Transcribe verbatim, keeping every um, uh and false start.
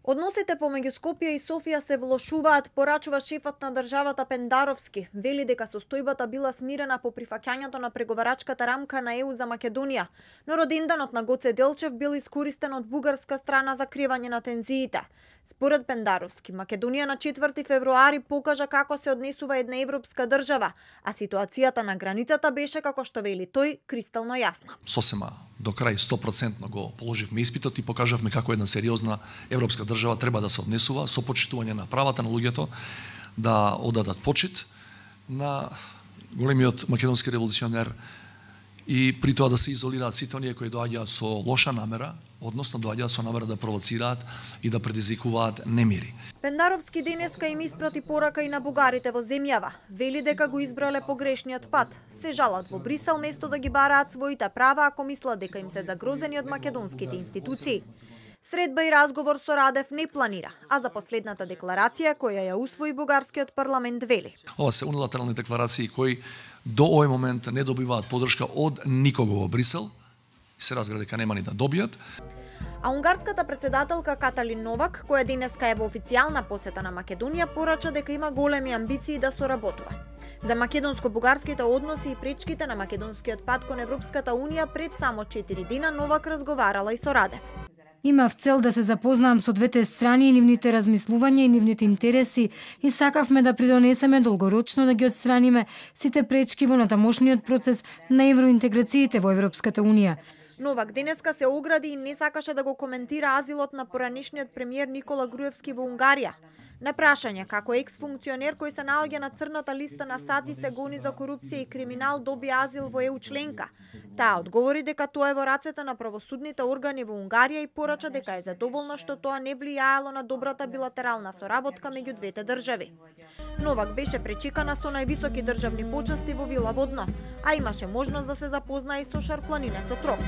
Односите помеѓу Скопје и Софија се влошуваат, порачува шефот на државата Пендаровски. Вели дека состојбата била смирена по прифаќањето на преговарачката рамка на Е У за Македонија, но роденденот на Гоце Делчев бил искористен од бугарска страна за кривање на тензиите. Според Пендаровски, Македонија на четврти февруари покажа како се однесува една европска држава, а ситуацијата на границата беше, како што вели тој, кристално јасна. Сосема до крај сто проценти го положивме испитот и покажавме како една сериозна европска држава треба да се однесува со почитување на правата на луѓето, да одадат почит на големиот македонски револуционер и при тоа да се изолираат сите оние кои доаѓаат со лоша намера, односно доаѓаат со намера да провоцираат и да предизвикуваат немири. Пендаровски денеска им испрати порака и на бугарите во земјава. Вели дека го избрале погрешниот пат. Се жалат во Брисел место да ги бараат своите права ако мислат дека им се загрозени од македонските институции. Средба и разговор со Радев не планира, а за последната декларација која ја усвои бугарскиот парламент вели: Ова се унилатерални декларации кои до овој момент не добиваат подршка од никого во Брисел, се разбира дека нема ни да добијат. А унгарската председателка Каталин Новак, која денеска е во официјална посета на Македонија, порача дека има големи амбиции да соработува. За македонско-бугарските односи и пречките на македонскиот пат кон Европската Унија пред само четири дена Новак разговарала и со Радев. Имав цел да се запознаам со двете страни и нивните размислувања и нивните интереси и сакавме да придонесеме долгорочно да ги отстраниме сите пречки во натамошниот процес на евроинтеграциите во Европската Унија. Новак денеска се огради и не сакаше да го коментира азилот на поранешниот премиер Никола Груевски во Унгарија. На прашање како екс-функционер кој се наоѓа на црната листа на САД и се гони за корупција и криминал доби азил во Е У членка, таа одговори дека тоа е во рацете на правосудните органи во Унгарија и порача дека е задоволна што тоа не влијаело на добрата билатерална соработка меѓу двете држави. Новак беше пречекана со највисоки државни почести во Вила Водно, а имаше можност да се запознае и со шарпланинецот Рок.